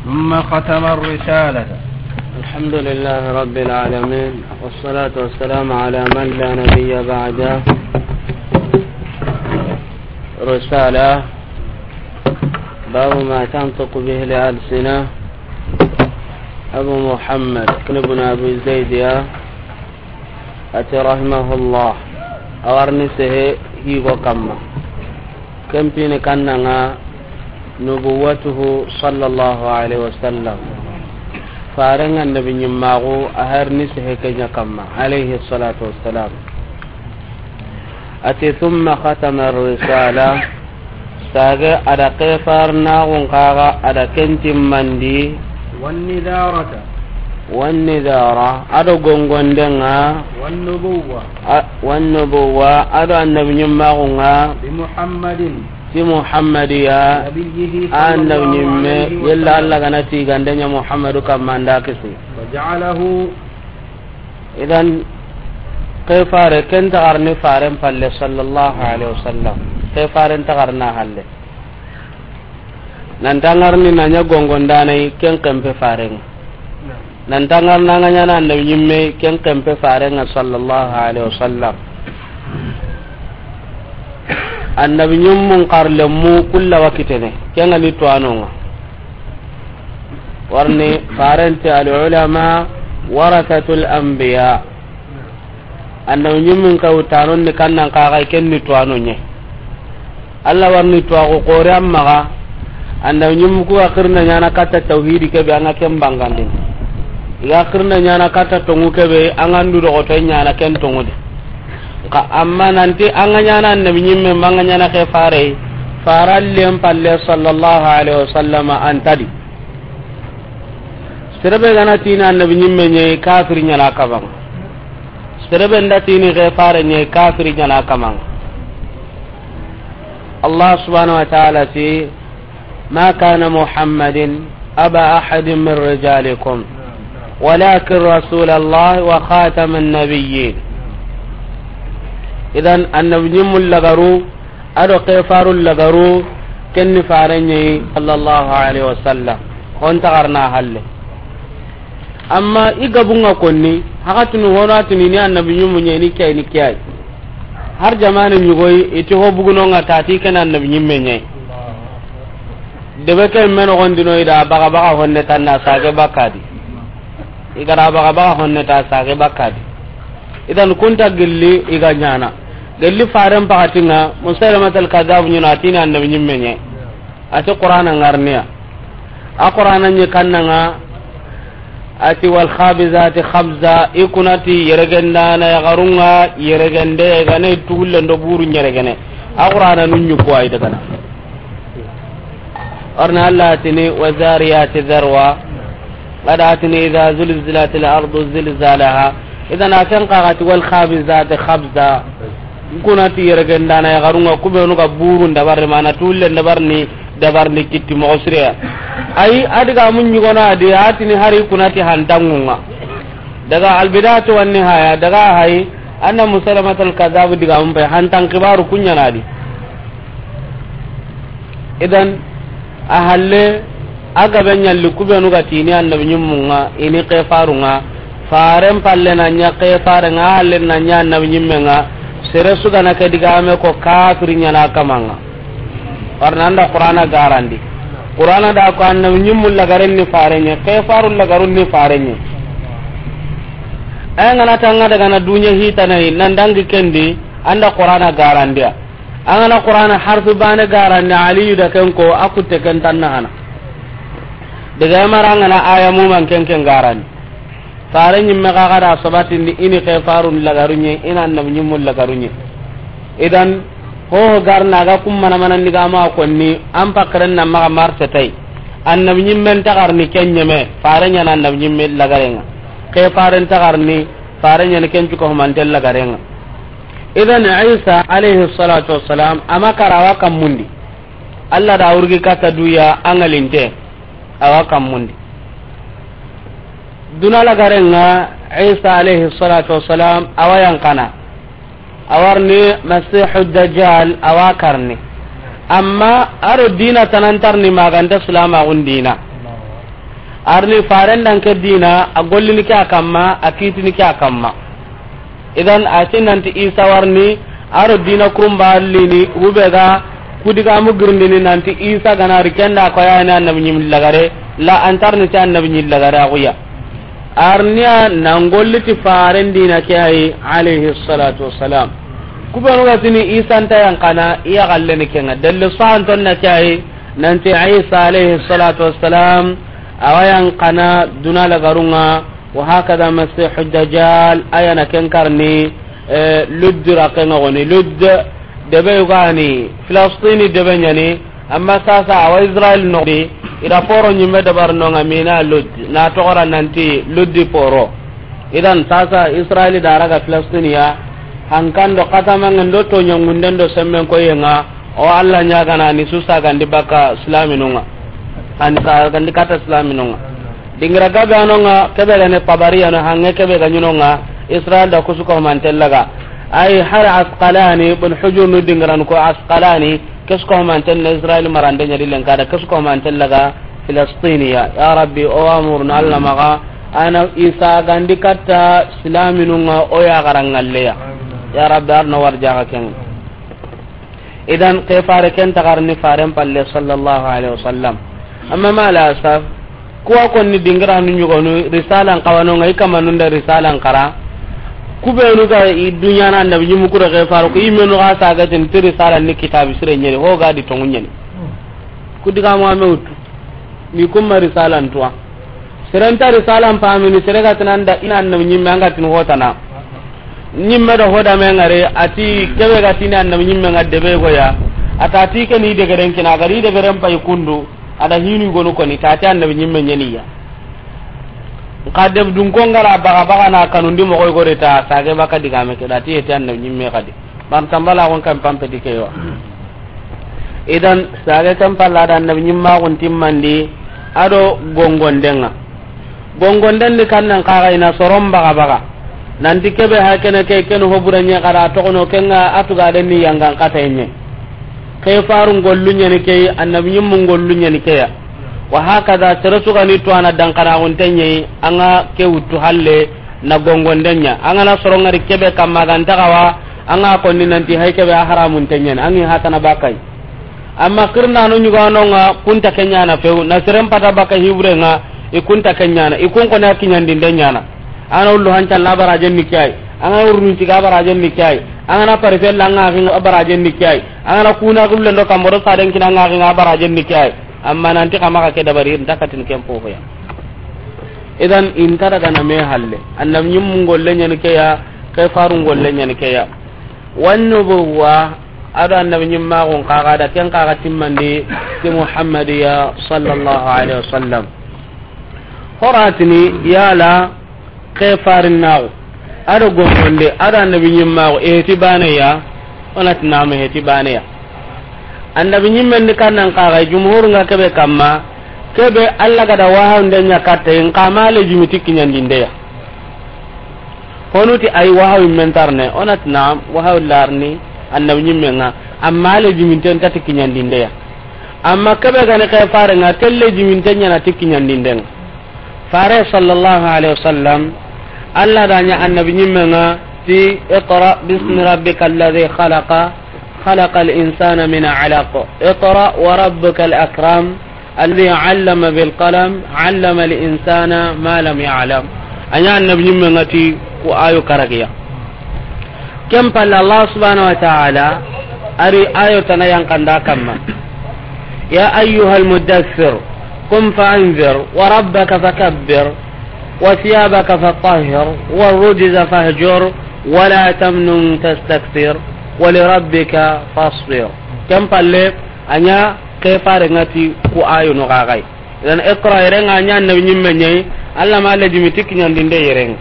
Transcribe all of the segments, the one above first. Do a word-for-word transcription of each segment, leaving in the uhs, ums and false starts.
ثم ختم الرسالة. الحمد لله رب العالمين، والصلاة والسلام على من لا نبي بعده. رسالة، باب ما تنطق به الألسنة. أبو محمد بن أبي زيد، يا ati rahimahullah, a wa ri ni sehe higo kamma. Ken pini kannan ŋa nubuwatuhu sallallahu alaihi wasallam. Faren ŋa annabi ɲimmaxu a wa ri ni sehe ke ɲa kamma, alayhi salatu wassalam. Ati, "Thumma khatama risala." Sage a da kefarnaxun kaga a da ken timmandi. Wannidharata. Wannidhara, a do gongondenga. Wannubuwa. A, wannubuwa, a do annabi ɲimmaxunga. Bi Muhammadin. Ti Muhammadiya. Nabiyyihi, a annabi sallallahu ɲimme, alayhi wa yella sallam. Allah gana tigandenya Muhammadu kamma nda kisi. Wa ja'alahu. Idan, ke fare, ken tagarni faren palle, sallallahu alaihi wasallam. Ke faren tagarna halle. Nan tangarni na ɲa gongondanai, ken kempe faren. Nan tangarna nga ɲana annabi ɲimme, ken kempe faren, sallallahu alaihi wasallam. Annabi ɲimmun karlemu kulla wakitene, ken ga ni tuwanonga. Warni farenti, al ulama warathatul anbiya. Annabi ɲimmun ka wutanon ni kannan kaga ken ni tuwano ɲe. Allah warni tuwaxu xore an maxa. Annabi ɲimmu ku ga xirna ɲana katta tawhidi kebe, an ga ken bangandini. I ga xirna ɲana katta tongu kebe, an ga ndu doxoto ɲana ken tongudi. Ka amma nanti an ga ɲana annabi ɲimme, ma an ga ɲana ke fare, farallen palle sallallahu alaihi wasallam antadi. Serebe gana tini annabi ɲimme ɲe, kafiri ɲana kamanga. Serebe nda tini ke fare ɲe, kafiri ɲana kamanga. Allah subhanahu wa ta'ala ti, "Ma kana Muhammadin aba ahadin min rijalikum, walakin Rasulallah wa khataman nabiyyin." Idan, annabi ɲimmu lagaru, a do ke faru lagaru, ken ni fare ɲe, sallallahu alaihi wasallam. Hon tagarna halle. Amma i gabunga konni, hakatunu hono atini ni annabi ɲimmu ɲe ni kiyai ni kiyai. Har jamane ɲugoyi, iti ho bugunonga tati ken annabi ɲimme ɲe. Debe ke me noxondino i da baga baga honne tanna sage bakadi. I gara baga baga honne ta sage bakadi. Idan kunta gilli i ga ɲana. Gilli faren pakatinga, Musailamatul Kadhab ɲuna tini annabi ɲimme ɲe. Ati Qur'ana ngarniya. A Qur'ana ɲi kannanga, ati, "Wal khabizati khabza", i kunati yeregendana yaxarunga yeregende, gane tugulle ndo buru yeregene. A Qur'ana nun ɲi ko ay dagana. Arna Allah atini, "Wa zariyati zarwa." Ada atini, "Idha zulzilatil ardu zilzalaha." Idan a ken kaga ti, "Wal khabizati khabza." Kunati yeregendana yaxarunga kubenu ga burun dabarni, mana tulle dabarni, dabarni kitti moxo sireya. Ayi, a diga mun ɲugono adi, atini hari kunati hantangunga. Daga Albidayatu wan Nihaya, daga hayi, anna Musailamatul Kadhab diga mun pe, hantan kibaru kuɲanadi. Idan, a halle, a gabe ɲalli kubenu ga tini annabi ɲimmunga, ini ke farunga, faren palle na ɲa ke farenga, a halle na ɲa annabi ɲimmenga, sere su gana ke digame ko kafiri ɲana kamanga. Warna anda Qur'ana garandi. Qur'ana da ko annabi ɲimmu lagaren ni fare ɲe, ke faru lagarun ni fare ɲe. Ay ngana tanga daga na dunya hitanayi, nan dangi kendi, anda Qur'ana garandiya. An gana Qur'ana harfi bane garandi, Aliyu da ken ko, a kutte ken tanna hana. Daga mara an gana aya muman ken ken garandi. Fare ɲimme kaga da sabatindi ini ke farun lagaru ɲe, ina annabi ɲimmu lagaru ɲe. Idan, ho garna ga kum mana mana ndiga ma konni, an pakren na maga marse tay. Annabi ɲimmen tagarni ken ɲeme, fare ɲana annabi ɲimme lagarenga. Ke faren tagarni, fare ɲana ken cuko humanten lagarenga. Idan Isa alayhi salatu wassalam, ama kara awa kammundi. Allah da wurgi kata duya angalinte, awa kammundi. Duna lagarenga Isa alayhi salatu wassalam, awa yankana. Awarni Masihu Dajjal, awa karni. Amma aro dina tanantarni maganta sulama gundina. A ri ni faren da ke dina, a gollini ke a kamma, a kitini ke a kamma. Idan a ti nanti Isa wa ri ni, a ro dina kurumba lini, hube ga ku digamu girindini nanti Isa ga na ri ken da ko ya ni annabi ɲim lagare, la antar ni ti annabi ɲim lagare a xuya. A ri ni a nan golli ti faren dina ke ayi, alayhi salatu wassalam. Kubenu ga tini Isa nta yan kana, iya galle ni kenga. Dalle santon na ke ayi, nanti Isa alayhi salatu wassalam, awa yan kana duna lagarunga, wa hakada Masihu Dajjal, aya na ken karni, eh, Ludd rakenga goni. Ludd, debe yugani, Filastini debe ɲani, amma sasa awa Israel noxdi, ida poro ɲimme dabar nonga mina Ludd, na togora nanti Luddi poro. Idan sasa Israel da raga Filastiniya, hankando katamangen do toɲangunden do semmen koyenga, o Allah ɲagana ni susa gandi baka silaminunga. Ani sa gandi kata silaminunga. Dingira gabe anonga, kebe gane Tabariya no hange kebe ga ɲinonga, Israel da kusu ko mantellaga. Ay har Asqalani, Ibn Hujur nu dingiran ko Asqalani, kesu ko manten na Israel marande ɲadi len kada, kesu ko mantellaga Filastiniya. Ya Rabbi, o amurna Allah maga, ana Isa gandi katta silaminunga o ya garangalleya. Ya Rabbi, arno warjaga ken. Idan ke fare ken tagarni faren palle sallallahu alaihi wasallam. Amma ma la asaf, kuwa konni dingiranu ɲugonu risalan kawanonga i kamanunda risalan kara. Kubenu ga i duɲana annabi ɲimu kura ke faru ko imenu ga sagatin ti risalan ni kitabi sire ɲeri ho ga di tongu ɲeni. Ku digamu ame wutu. Mi kumma risalan tuwa. Serenta risalan pamini sere ga tinanda ina annabi ɲimme anga tin hotana. Ɲimme da hoda me ngare ati kebe ga tini annabi ɲimme nga debe goya. Ata ti ke ni degeren kina gari degeren pay kundu. Ada hinu gonu koni tati annabi ɲimme ɲeniya. Nka deb dun ko ngara baga baga na kanundi mo koy gore ta sage baka digame ke dati eti annabi ɲimme kadi. Ban tambala gon kan pampeti ke yo. Idan sage kan palla da annabi ɲimma gon timmandi ado gongondenga. Gongonden di kannan kaga ina soron baga baga. Nanti kebe ha kene ke ken hoburanye kada togono kenga atuga den ni yangan katenye. Ke farun gollu ɲani ke, annabi ɲimmun gollu ɲani ke ya. Wa hakada sere sugani to ana dankana guntenye anga ke wuttu halle na gongondenya. Anga na sorongari kebe kamma ganta gawa anga konni nanti hay kebe a haramun tenyen angi hatana bakai. Amma kirna no ɲuga nonga kunta kenyana few na seren pata baka hibre nga i kunta kenyana i kun kona kinyandi ndenyana. Ana ullu hanca la barajen ni kiyai. Anga urnu tiga barajen ni kiyai. Anga na parifel la nga ginga barajen ni kiyai. Anga na kuna gulle ndo kamboro saden kina nga ginga barajen ni kiyai. Amma nanti kama ka ke dabari nta katin ken fofo ya. Idan inta daga na me halle. Annabi ɲimmun golle ɲani ke ya, ke farun golle ɲani ke ya. Wan nubuwa, ado annabi ɲimmaxun kaga da ken kaga timmandi ti Muhammadiya sallallahu alaihi wasallam. Horatini yala ke farinnaxu ado gongonde ado annabi ɲimmaxu eheti baneya. Onati nama eheti baneya. Annabi ɲimmen di kannan kaga jumhur nga kebe kamma. Kebe Allah gada wahawunde ɲa katta in kama le jimiti kiɲandindeya. Honuti ay wahawi mentarne onati na wahawi larni annabi ɲimmenga. Amma le jiminten tati kiɲandindeya. Amma kebe gani ke farenga telle jiminten ɲana ti kiɲandindenga. Fare sallallahu alaihi wasallam. Allah da ɲa annabi ɲimmenga ti iqra bismi rabbika alladhi khalaqa khalaqal insana min alaq iqra wa rabbukal akram. Alladhi allama bil qalam, allama al insana ma lam ya'lam. Anya annabi ɲimmenga ti ku ayo karagiya. Ken palle Allah subhanahu wa ta'ala ari ayo tana yankanda kamma. Ya ayyuhal muddaththir, qum fa anzir, wa rabbaka fakabbir, wa thiyabaka fatahhir, wa rujza fahjur, wa la tamnun tastakthir, wa li rabbika fasbir. Ken palle anya ke farenga ti ku ayo no gagai. Idan iqra irenga anya annabi ɲimme ɲai. Allah ma le jimiti kiɲandinde irenga.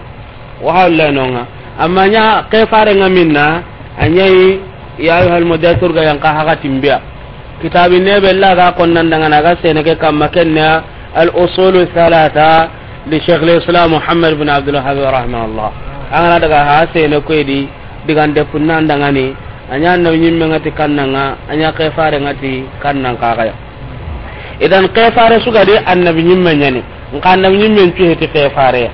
Wa hawla nonga. Amma nya ke farenga minna anyai ya ayyuhal mudaththir ga yanka haga timbiya. Kitabi ne be la ga konnan dangana ga sene ke kamma kenna al usulu thalatha li shaykh al islam Muhammad bin Abdul Wahhab rahimahullah. Angana daga ha sene ko di digande punnan dangani anya annabi ɲimmenga ti kannanga anya ke farenga ti kannan kagaya. Idan ke fare suga de annabi ɲimme ɲani. Nxa annabi ɲimmen cu heti xefare.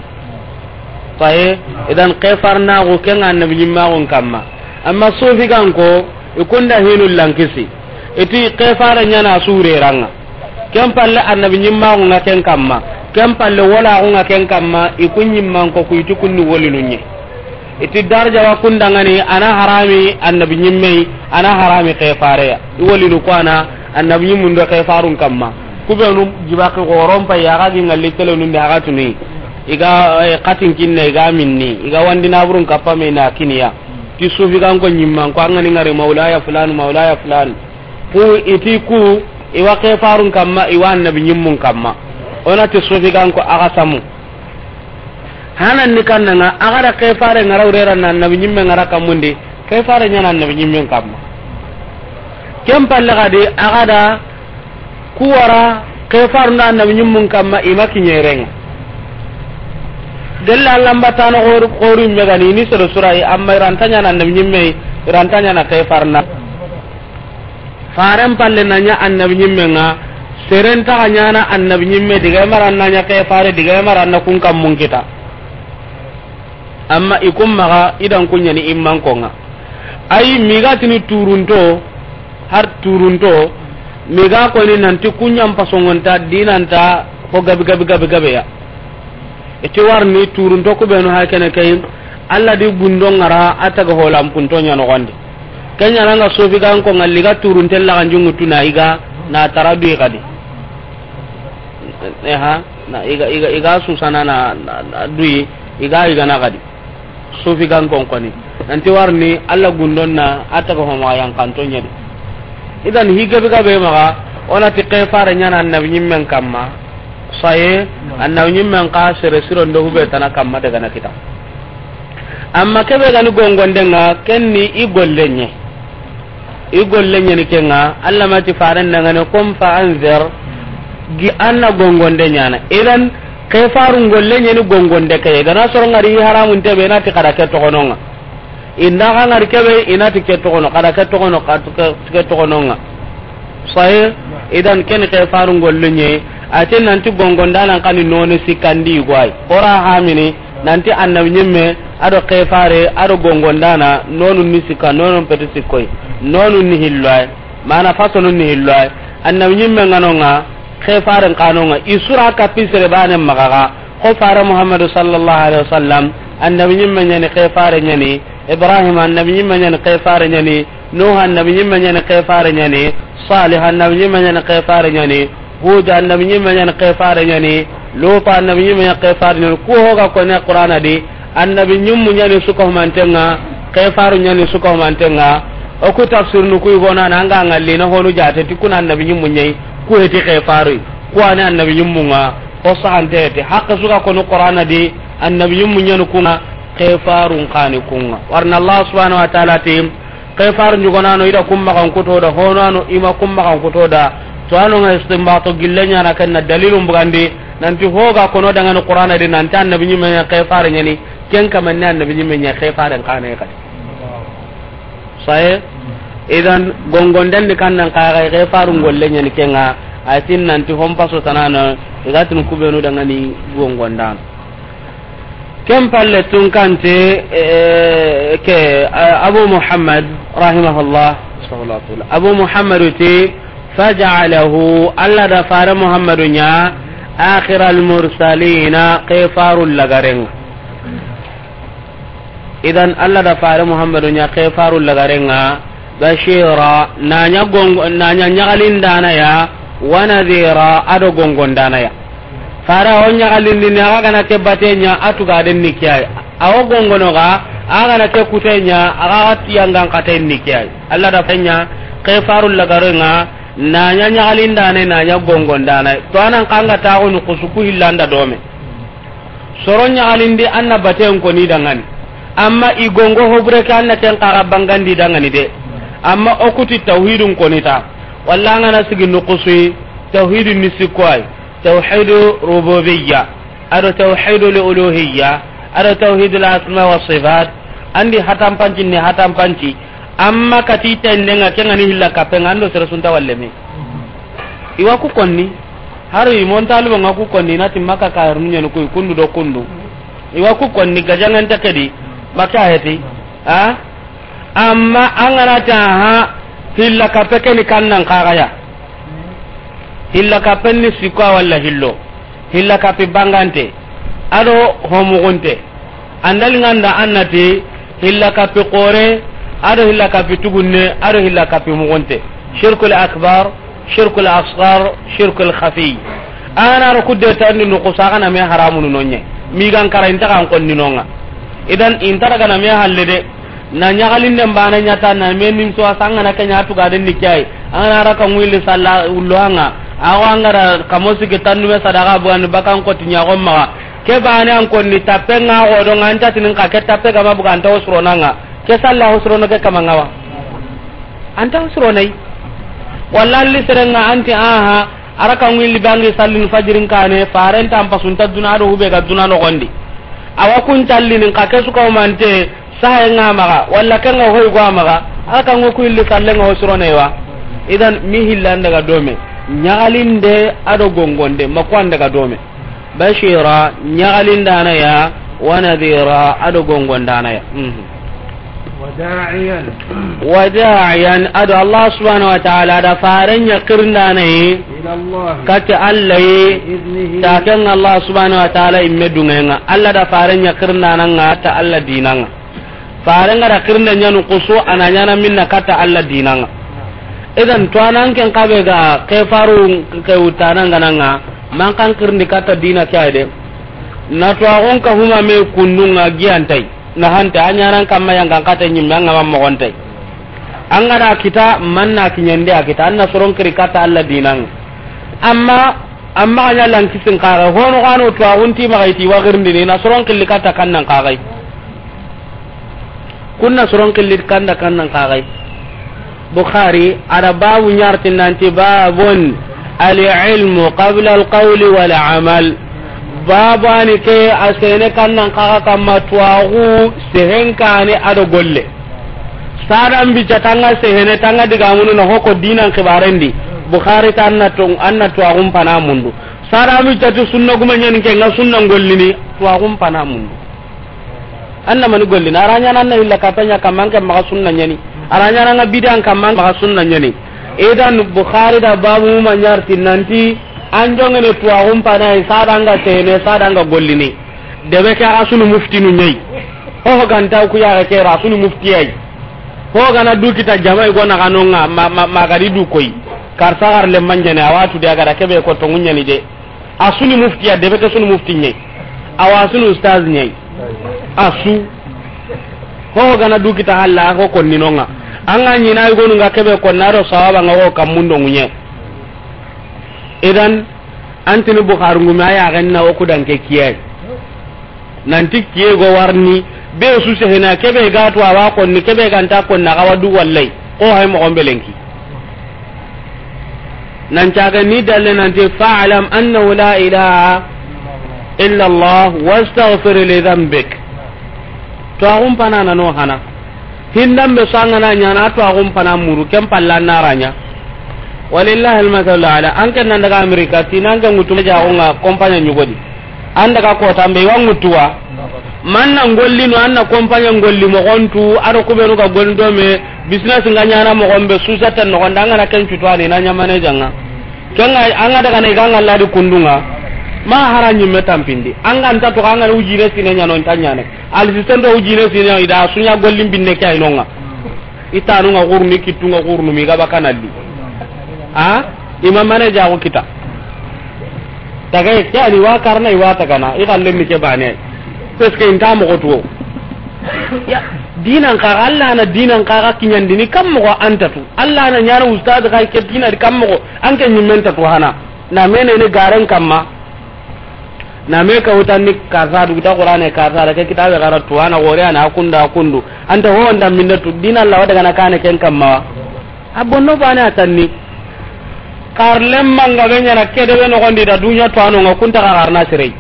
Sahe, idan xefarnaxu ken ŋa annabi ɲimmaxun kamma. Amma sofiganko, i kunda hinu lankisi. I ti xefare ɲana sureranga. Ken palle annabi ɲimmaxu ŋa ken kamma. Ken palle wolaxu ŋa ken kamma, i ku ɲimmanko ku i ti kunni wolinu ɲe. I ti darja wa kundangani, ana harami annabi ɲimmei, ana harami xefareya. I wolinu ko ana annabi ɲimmun do xefarun kamma. Kubenu jibaki xoron pay, axa gi ŋalli telenundi axa tuni. I ga, eh, xatin kinne, i ga minni, i ga wandi naburun kappa me na kiniya. Ti sufiganko ɲimmanko, an ga ni ŋari maulaya fulan, maulaya fulan. Ku i ti ku, i wa xefarun kamma, i wa annabi ɲimmun kamma. O na ti sufiganko axa samu. Hanan ni kannanga, axa da xefare ŋara wurera na annabi ɲimme ŋara kammundi, xefare ɲana annabi ɲimmen kamma. Ken palle xadi, axa da ku wara xefarun da annabi ɲimmun kamma, i ma kiɲerenga. Gella Alla mbatano xoru, xoru megani, ni soro surai, amma i ranta ɲana annabi ɲimme, i ranta ɲana xefarna. Faren palle na ɲa annabi ɲimmen ŋa, seren taxa ɲana annabi ɲimme, diga mara na ɲa ke fare, diga mara na kun kammun kita. Amma i kun maxa, i dan kun ɲani immanko ŋa. Ayi, migatini turunto, har turunto, miga koni nanti kunɲan pasongonta, dinanta, ho gabi, gabi, gabi, gabe ya. I ti warni turunto kubenu ha kene kay, Alla di gundo ŋara a taga holampunto ɲa noxondi. Ken ɲana nga sofiganko ŋalli ga turunte laxanjungutu na i ga na tara duyi xadi. Eha, na i ga, i ga, i ga susana na, na, na duyi, i ga, i ga na xadi. Sofigankon koni. Nanti warni Alla gundon na a taga homa yankanto ɲadi. Idan hi gabe gabe maxa, o na ti xefare ɲana annabi ɲimmen kamma. Saye, annabi ɲimmen xa sere siron do hube tana kamma daga na kita. Amma kebe gani gongonde ŋa, ken ni i golle ɲe. I golle ɲeni ke ŋa, Alla ma ti faren dangane, qum fa anzir, gi anna gongonde ɲana. Idan, xefarun golle ɲeni gongonde ke. Gana soro ŋari haramun tebe, i na ti xada ke toxono ŋa. Inda xa ŋari kebe, i na ti ke toxono, xada ke toxono, xa ke, ke toxono ŋa. Sahe, idan ken xefarun golle ɲe, a ti nanti gongondanan xa ni noni sikandi guay. Ora hamini, nanti annabi ɲimme, ado xefare, ado gongondana, nonu ni sika, nonu peti sikkoy, nonu ni hilloy. Mana fasonu ni hilloy. Annabi ɲimme ŋa no ŋa, xefaren xa no ŋa, i sura kapi sere bane maxa ga, Xo fare Muhammadu sallallahu alaihi wasallam, annabi ɲimme ɲani, xefare ɲani. Ibrahim annabi ɲimme ɲani, xefare ɲani. Nuh annabi ɲimme ɲani, xefare ɲani. Salih annabi ɲimme ɲani, xefare ɲani. Hud annabi ɲimme ɲani, xefare ɲani. Lut annabi ɲimme ɲani, xefare ɲani. Ku hoga kone Qur'ana di, annabi ɲimmu ɲani suka humantenga, xefaru ɲani suka humantenga. O ku tafsirnu ku yigona na anga ngalli na honu jate ti kuna annabi ɲimmu ɲai, ku heti xefaru. Ku ani annabi ɲimmu nga. Xo sahante ti, haqqe suga konu Qur'ana di, annabi ɲimmu ɲanu kunga, xefarun xani kunga. Warna Allah subhanahu wa ta'ala ti, xefarun ɲugonano ida kummaxan kutoda, honano ima kummaxan kutoda, to ano nga istinbato gille ɲana kenna dalilun bugandi, nanti hoga kono dangani Qur'ana di, nanti annabi ɲimme ɲa xefare ɲani, ken kamanni annabi ɲimme ɲa xefaren xane xadi. Saye, idan gongonden di kannan kaga, xefarun golle ɲani kenga, a tin nanti hon paso tanana, i ga tin kubenu dangani gongondan. Ken palle tun kante, eh, ke, eh, Abu Muhammad, rahimahullah, sallallahu alaihi wasallam. Abu Muhammad ti, faja'alahu, Alla da fare Muhammadu ɲa, akhiral mursalina, xefarun lagarenga. Idan Alla da fare Muhammadu ɲa xefaru lagarenga, bashira, na ɲa gongo, na ɲa ɲagalindana ya, wa nadhira, ado gongondana ya. Fare o ɲagalindini, aga gana ke bate ɲa, a tuga den ni kiyai. Awo gongono ga, aga gana ke kute ɲa, aga ga tiyangan kate ni kiyai. Alla da fanya xefaru lagarenga, na ɲa ɲagalindana, na ɲa gongondana. To anan kanga taxunu kusuku hillanda dome. Soro ɲagalindi anna baten koni dangani. Amma i gongo hobure ke anna ken kaga bangandi dangani de. Amma o kuti tawhidun koni ta. Walla ngana sigi nukusui, tawhidun ni sikko ay. Tawhidu rububiyya. Ado tawhidu li uluhiyya. Ado tawhidu li asma wa sifat. Andi hatampanci ni hatampanci. Amma kati tendenga kengani hilla kapenga ando sere sunta walleme. Iwa ku konni. Hari mon talibo nga ku konni na ti Makka kayirnu ñani kuy kundu do kundu. Iwa ku konni gajaŋan ta ke di. Makka heti. Ha? Amma an ga na ti aha, hilla kappe ke ni kannan kaga ya. Hilla kappe ni sikko walla hillo. Hilla kappe bangante. Ado homugunte. Andali nganda annati hilla kappe kore, ado hilla kappe tugunne, ado hilla kappe mugunte. Shirkul akbar, shirkul asghar, shirkul khafi. Ana ro kudde tandi no ko saga na me haramunu nonye. Mi gan kara inta kan konni nonga. Idan inta daga na me halle de. Na ñagalinden bana ñata na me nim so asanga na kenya tuga den ni kay. An ga na raka ngwili salla ullo anga. Awa an ga ra kamo sigi tandume sadaka bugandi bakan koti ñago maga. Ke bane an konni tappe nga godo nga anta tinin ka ke tappe gama buga anta osronanga. Ke salla osrono ke kama ngawa. Anta osronai. Walla li serenga anti aha. Araka ngwili bangi sallin fajirin kane, faren tan pasunta duna do hube ga duna no gondi. Awa kun tallinin ka kesu ka umante, sahe nga maga, walla kenga hoy go maga, araka ngo ku illi sallenga hosronewa. Idan mi hillan daga dome, ñagalinde ado gongonde, makwan daga dome. Bashira, ñagalindana ya, wa nadhira, ado gongondana ya. Mhm. وداعيا Wa da'iyan, ado Allah subhanahu wa ta'ala, da faren ya kirndana yi, إلى الله kati Allah yi, بإذنه ta ken Allah subhanahu wa ta'ala imme dungenga. Allah da faren ya kirndana nga ta Allah dinanga. Faren ga da kirnda ñanu kusu, ana ñana minna kata Allah dinanga. Idan to anan ken kabe ga ke faru ke utana ngananga, man kan kirndi kata dina ke ayde. Na to agon ka huma me kundunga giyantai. Na hanta a ñanan kamma yangan kata ñimme an ga ma mogontai. An ga da kita manna kiñende a kita, an na soron kiri kata Allah dinanga. Amma Amma a ña lan kisin kaga, hono gano to agunti maga iti wa girndini, na soron killi kata kannan kagai. Kunna soron killi kanda kannan kagai. Bukhari, ada babu ñarti nanti babun al-ilmu qabla al-qawli wal amal. Babu ani ke a sene kannan kaga kamma tuwagu sehen kane ado golle. Sada mbi ca tanga sehene tanga diga munu na hoko dinan kibarendi. Bukhari ta anna to, anna tuwagun pana mundu. Sada mbi ca ti sunna guma ñani ke nga sunna gollini tuwagun pana mundu. Anna mani gollini. Aranya na anna illa katanya kamma an ke maga sunna ñani. Aranya na nga bidan kamma an maga sunna ñani. Idan Bukhari da babu ma ñarti nanti an jongene tuwagun pana sada nga sehene sada nga gollini. Debe ke a sunu muftinu ñayi. Ho ho ganta ku ya ke ra sunu muftiyai. Ho gana du kita jamai gona kanonga ma, ma, ma gari du koy. Karsa gar le manjene awatu de agara kebe ko tongu ñani de. A sunu muftiya debe ke sunu mufti ñayi. Awa sunu ustaz ñayi. A su. Ho ho gana du kita halla ho konni nonga. Anga ñina gonu nga kebe ko naro sawaba nga ho kamundo ngunye. Idan Antini Bukhari ngumi a yaxen na wo kudanke kiye. Nanti kiye go warni, be su sehena, kebe ga to awa konni, kebe ganta konna, ga wadu wallai. Ko hay mo gombe lenki. Nan caga ni dalle nanti, "Fa'lam annahu la ilaha illa Allah wastaghfir li dhanbik." To axun pana na no hana. Hindan be sanga na ñana to axun pana muru ken palla na ranya. Walillahi almasalu ala. An ken nan daga Amerika, tinan ke ngutu ja ko nga kompanya ñugodi. An daga kota mbe wa ngutuwa. Man na ngolli no an na kompanya ngolli mo gontu, ado kubenu ga golli do me, business nga ñana mo gombe, susata no gonda nga na ken cutuwa ni na ñamane janga. Kenga anga daga ne ganga ladi kundunga. Ma hara ñimme tampindi. Anga nta to anga ujire sine ñano nta ñane. Al sisen do ujire sine ida suña gollin binne ke aynonga. Itanu nga gurni kitunga gurnu mi gaba kanalli. A? Imam mane jago kita. Taga ke ani wa karna iwa tagana. I galle mi ke bane. Parce que inta mo to. Ya, dinan ka Allah na dinan ka kiñandini kam mo antatu. Allah na ñana ustad ka ke dinan kam mo an ke ñimmen tatu hana. Na mene ne garen kamma. Na me ka wutanni karsa du ta Qur'ane karsa da ke kitabe gara tu ana gore ana kunda kundu. Anta ho nda minda tu dina Allah wada gana kane ken kamma. A bonno bane atanni. Karlem manga be ñana kede be no gondi da duña to ano nga kunta ka garna sirei.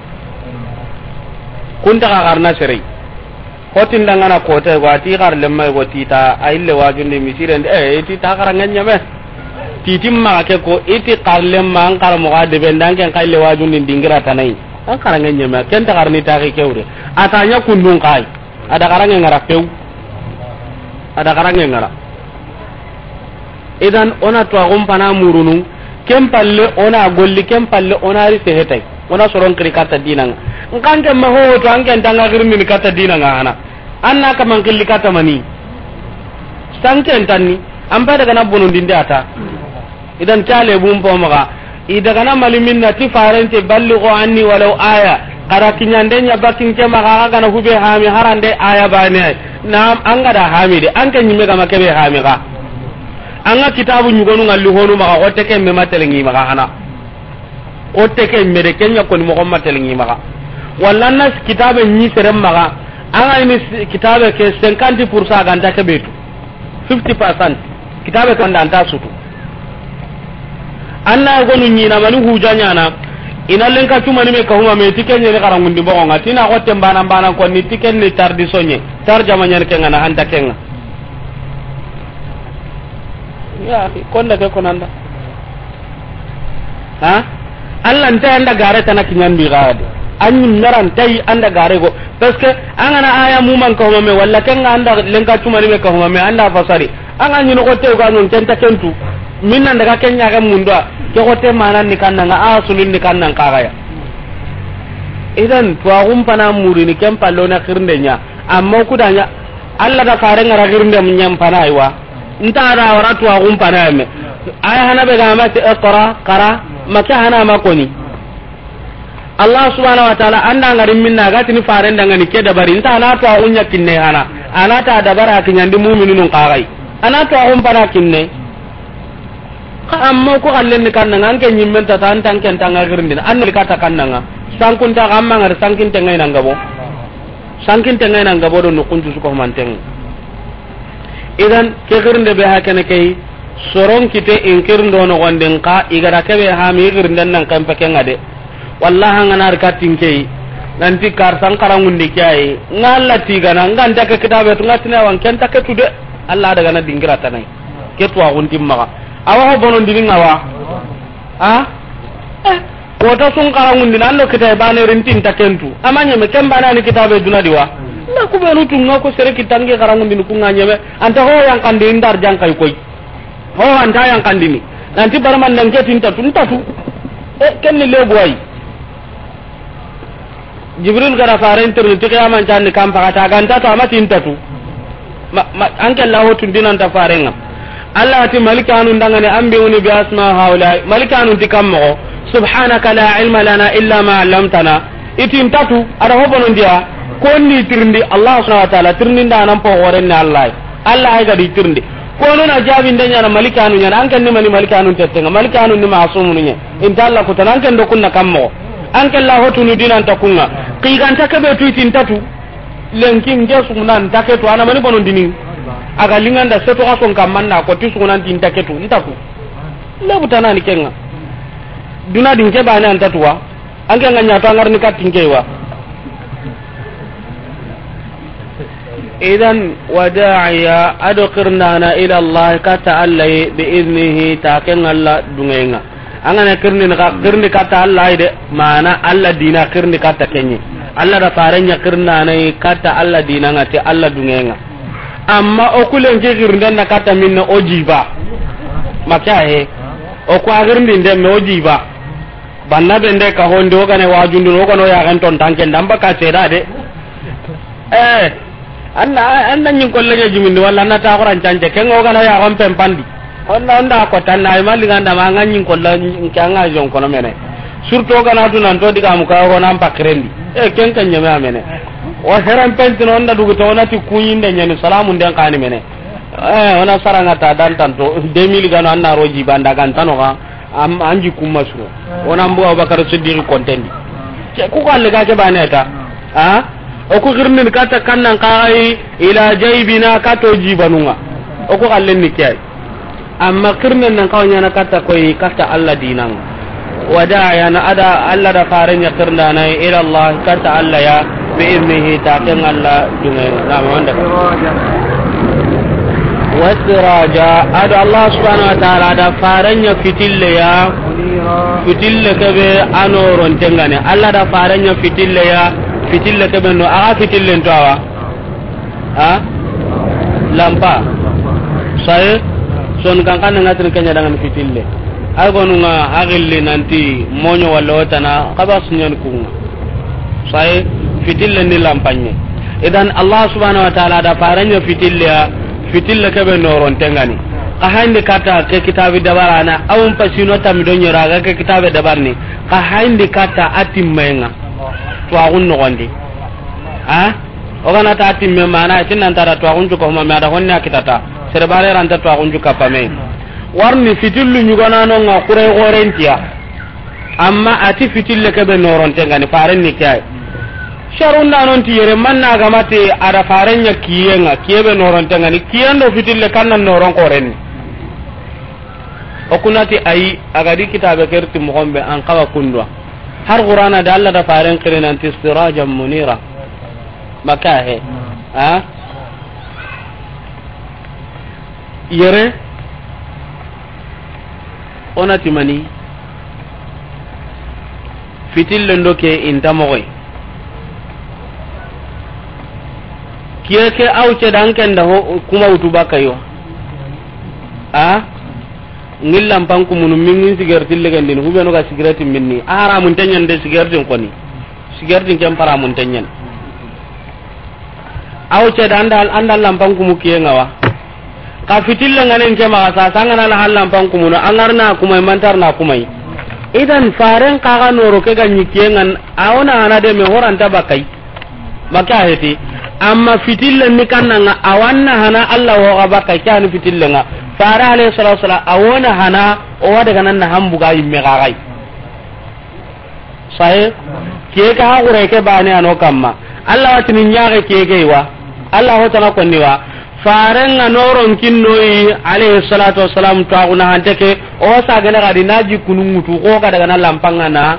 Kunta ka garna sirei. Hotin dangana kote go ati karlem may go tita a ille wajundi misiren de, eh, tita karanga ñame. Titin maxa ke ko, i ti xarlen ma, an xaramoxo a debe nda, an ken xalle wajundin dingira tana yi. An xaranŋe ɲeme, ken ta xarni taxi ke wure. A ta ɲa kundun xa yi. A da xaranŋe ŋara pew. A da xaranŋe ŋara. Idan, o na tuwaxun pana murunu, ken palle o na golli, ken palle o na ri sehetay. O na soron kiri katta dinanŋa. Nkan ke ma ho to, an ken tanga girmini katta dinanŋa hana. An na kaman killi katta mani. Sanken tanni, an pa daga na bonondinde a ta. Idan cale bun po maxa. I daga na mali minna ti farente ballighu anni walaw aya. Xara kiɲande ɲa bakin ke maxa, xa gana hube hami harande aya bane ay. Naam, an ga da hami de, an ke ɲimme gama kebe hami xa. An ga kitabu ɲugonu ngalli honu maxa, xotte ke me matelŋi maxa hana. Xotte ke me de, kenya koni moxo matelŋi maxa. Walla na kitabe ɲi sere maxa. An ga ini kitabe ke cinquante pour cent ganta kebe tu. Fifty percent. Kitabe ke wanda anta sutu. An na gonu ɲina mani huja ɲana. Ina lenka cumani me kahuma me, ti ken ɲeni xaranŋundi boxonŋa, ti na xotte mbana mbana konni, ti ken ni tardi soɲe, tarjama ɲani kenŋa na hanta kenŋa. Ya, konda ke konanda. Ha? Allah nta anda gare tana kiɲandi ga de. An ɲi meran tay anda gare go. Parce que an gana aya muman ka huma me, walla ken ga anda lenka cumani me ka huma me, anda fasari. An ga ɲi no ko tew ga non ken ta kentu. Min nan daga ken ɲa ga mundwa. Ke ko te manan ni kannanga, a sulun ni kannan kagaya. Idan, tuwaxun pana murini ken pallo na xirnde ɲa. Amma kudanya, Allah da fare ngara xirnde ɲan pana aywa. Nta da wara tuwaxun pana me. Ay hana be ga ma ti iqra, qara, maka hana ma koni. Allah subhanahu wa ta'ala anda ngari minna ga tini faren dangani ke dabari. Nta na tuwaxun ɲa kinne hana. Ana ta dabara kiɲandi mu'minun kagai. Ana tuwaxun pana kinne. Xa amma ko xallen ni kannanga, an ke ɲimmen ta, an tan ken tanga girindina, an ni kata kannanga. Sankunta xa amma ngari sankin tengai nan gabo. Sankin tengai nan gabo do no kuntu su ko manten. Idan ke girinde be hakene kay, soron kite in kirindo no gonden ka, igara kebe ha mi girinden nan kan peke ngade. Wallahi an gana arkatin kay, nanti kar san karangundi kay, ngalla tigana, nganta ke kitabe tu ngatina wan ken ta ke tude. Allah daga na dingira tanai. Ke tuwaxun ti maxa. Awa ho bonondini ŋa wa? A? Eh, kota sun xarangundini, an do kitabe bane rintin ta kentu. Ama ɲeme, ken bane ani kitabe duna di wa? Na ku benu tunga ko sere kitangi xarangundini ku ŋa ɲeme. Anta ho yankandi ndar jankay koy. Ho anta yankandini. Nanti barman nan ke tinta tu, nta tu. Eh, ken ni lebu ay. Jibril gara faren tirni ti qiyaman canni kan paxata ganta to ama tinta tu. Ma, ma, an ke Allah hotun dinanta farenga. Allah ti malikanu ndangani anbi'uni bi asma haula. Malikanu ti kammo. Subhanaka la ilma lana illa ma 'allamtana. Itin tatu, ada hobonon dia. Konni tirndi Allah subhanahu wa ta'ala tirndi nda nan po goren ni Allah. Allah ay gadi tirndi. Kono na jabi nda ɲana malikanu ɲana, an ken ni mani malikanu tettenga, malikanu ni masumunu ɲe. Inta Allah kutana, an ken do kunna kammo. An ken la hotunu dinan ta kunga. Qiganta kebe tu itin tatu. Lenki nge suguna nta ke tu, ana mani bonon dini. Aga linganda seto ga son kammanna ko ti suguna nti nta ke tu, nta tu. Lebu tanani kenga. Duna din ke bani anta tuwa. An ke nga ɲa to an ga ri ni kattin ke wa. Idan, wada'iya, ado kirnana ila Allah, kata Allah, bi idnihi, ta ken Allah dungenga. An gana kirni ka, kirni kata Allah de, mana Allah dina kirni kata kenye. Allah da farenya kirnana kata Allah dina ngati Allah dungenga. Amma o kulen ke kirnden na kata minna o jiba. Maka he. O ko agirndi ndemme o jiba. Banna be nde ka honde o gane wajundu o gano ya gan ton tanke ndamba ka seda de. Eh, anna, anna nyin kolle nya jimindi walla na ta Qur'an canje ken o gano ya gon pempandi. Onna onda ko tan ay mali ganda ma nga nyin kolla nka nga jon kono mene. Surtout o gana tu nan to diga mu ka o nan pakrendi. Eh, ken kan nyame amene. O heran penti no onda dugu to ona ti kunyinde nyani salamu nden kani mene. Eh, ona saranga ta dan tanto deux mille gano anna roji banda gan tano ga. Am, anji kuma suro. Ona mbu Abubakar Siddiq kontendi. Ce ku kalle ga ke bane ta. Ha? O ku girnin kata kannan kai ila jaybina kato jibanunga. O ku kalle ni kiyai. Amma kirnen nan kawa ɲana kata koy kata Allah dinan. Wada yana ada Allah da farenya kirndana ila Allah kata Allah ya bi idnihi ta ken Allah dungenga. Na ma wanda. Wasiraja, a do Allah subhanahu wa ta'ala da faren ɲa fitille ya, fitille ke be a noronte ŋa ni. Allah da faren ɲa fitille ya, fitille ke be no, a ga fitillen to a wa. Ha? Lampa. Saye, son kan kan ŋa tin ke ɲa dangan fitille. Ay gonu ŋa a gilli nanti moɲo walla wotana, xa ba su ɲan ku ŋa. Saye, fitille ni lampa ɲa. Idan Allah subhanahu wa ta'ala da faren ɲa fitille ya, fitille ke be noronte ŋa ni. Xa hayindi katta ke kitabi dabarana, awun pasino tammi do ɲera ga ke kitabe dabarni. Xa hayindi katta a timmaye ŋa. Tuwaxun noxondi. Ha? O ga na ta timme mana, i ti nan ta da tuwaxun cu ko ma, ma da honne a kitata. Sere bare ranta tuwaxun cu kapame. Warni fitillu ɲugana no ŋa kure gorentiya. Amma a ti fitille ke be noronte ŋa ni, faren ni ke ay. Sharunda non ti yere manna ga ma ti a da faren ɲa kiye ŋa, kiye be noronte ŋa ni, kiyen do fitille kan na noron korenni. O ku na ti ayi, a ga di kitabe ke ri ti moxon be an xawa kundwa. Har Qur'ana da Allah da faren xiri nanti sirajan munira. Maka he. Ha? Yere, o na ti mani? Fitillen do ke inta moxoy. Kiye ke aw ce dan ken da ho kuma wutu bakayo. A? Ŋi lampan kumunu, min ŋi sigareti legendini, hubenu ga sigareti minni. A haramunte ɲan de sigaretin koni. Sigaretin ken paramunte ɲan. Aw ce da anda, anda lampan kumu kiye ŋa wa. Xa fitille ŋa nen ke maxa sa, sangana la hal lampan kumunu, an ŋa ri na kumay, mantar na kumay. Idan faren xa ga noro ke ga ɲi kiye ŋa, a wo na hana de me horanta bakay. Maka heti. Amma fitille ni kanna ŋa, a wa na hana Allah wo ga bakay, ke ani fitille ŋa. Fare alayhi salatu wasalam, a wo na hana, o wa daga nan na hambu ga yimme ga gay. Sahe? Kiye ke ha gure ke bane ano kamma. Allah wa tini ɲaxe kiye ke wa. Allah ho tana konni wa. Faren ŋa noron kinnoyi, alayhi salatu wasalam, to a guna hante ke, o sagene ga di na ji kunu ŋutu, ko ga daga na lampan ŋa na,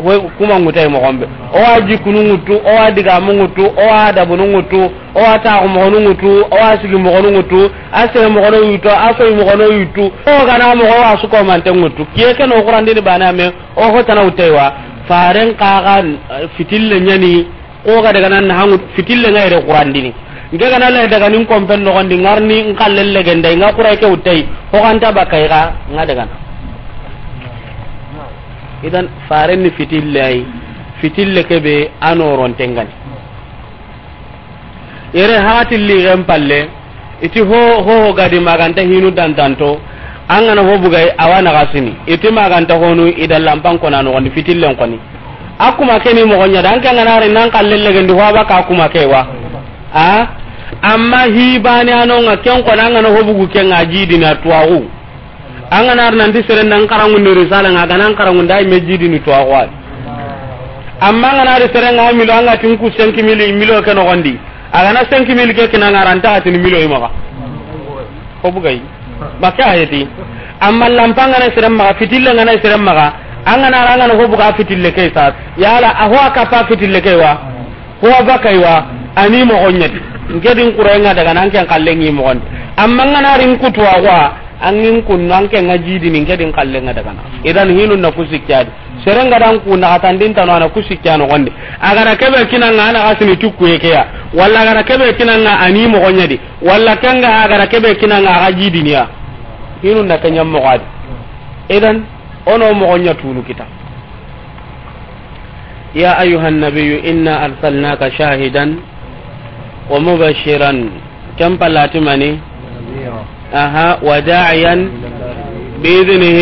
ho kuma ŋutay moxon be. O wa ji kunu ŋutu, o wa digamu ŋutu, o wa dabunu ŋutu, o wa taxu moxonu ŋutu, o wa sigi moxonu ŋutu, a sere moxono yuto, a soyi moxono yutu, o ga na moxo wa su ko mante ŋutu. Kiye ke no Qur'an dini bane ame, O ho tana wutay wa, faren xa ga, eh, fitille ɲani, ko ga daga nan hangu fitille ŋa yere Qur'an dini. Nke ga na le daga nin kompen noxondi ŋa ri ni n xalle legendai, ŋa Qur'an ke wutay, ho ganta bakay ga, ŋa daga na. Idan, faren ni fitille ay, fitille ke be a noronte ŋa ni. Yere hati ligen palle, iti ho, ho, ho ga di maganta hinu dantanto, an ga na ho bugay, a wa na ga sini. Iti maganta honu, i da lampan kona noxondi, fitillen koni. A kuma ke ni moxo ɲa da, an ke ŋa na ri nan xalle legendi, ho a baka kuma ke wa. A? Amma hi bane ano ŋa, ken kona an ga na ho bugu ke ŋa jidini a tuwaxu. An ga na ri nanti sere nan xaranŋundi risala ŋa, a ga nan xaranŋundi ay me jidini tuwaxu ay. Amma an ga na ri sere ŋa milo, an ga tin ku cinq mille, milo ke noxondi. A ga na cinq mille ke kina ŋa, a ra nta xa tini milo i maxa. Ho bugay. Maka heti. Amma lampan ga na sere maxa, fitille ga na sere maxa. An ga na ri an ga na ho buga fitille ke sa. Yala, a ho a kapa fitille ke wa. Ho a bakay wa, a ni moxo ɲa di. Nke di n Qur'an ŋa daga na, an ke n xalle ŋi moxondi. Amma an ga na ri n kutuwa wa, an ŋi n kunnu, an ke ŋa jidini, nke di n xalle ŋa daga na. Idan hinu na ku sikki a di. Sere ŋa da n ku na xatandin tano a na ku sikki a noxondi. A ga da ke be kina ŋa a na xa sini ti kuye ke ya. Walla a ga da ke be kina ŋa a ni moxo ɲa di. Walla ke ŋa a ga da ke be kina ŋa a xa jidini ya. Hinu na ke ɲa moxo a di. Idan, o no moxo ɲa tunu kita. يا أيها النبي إنا أرسلناك شاهدا ومبشرا. Ken pallati mani? Aha, وداعيا بإذنه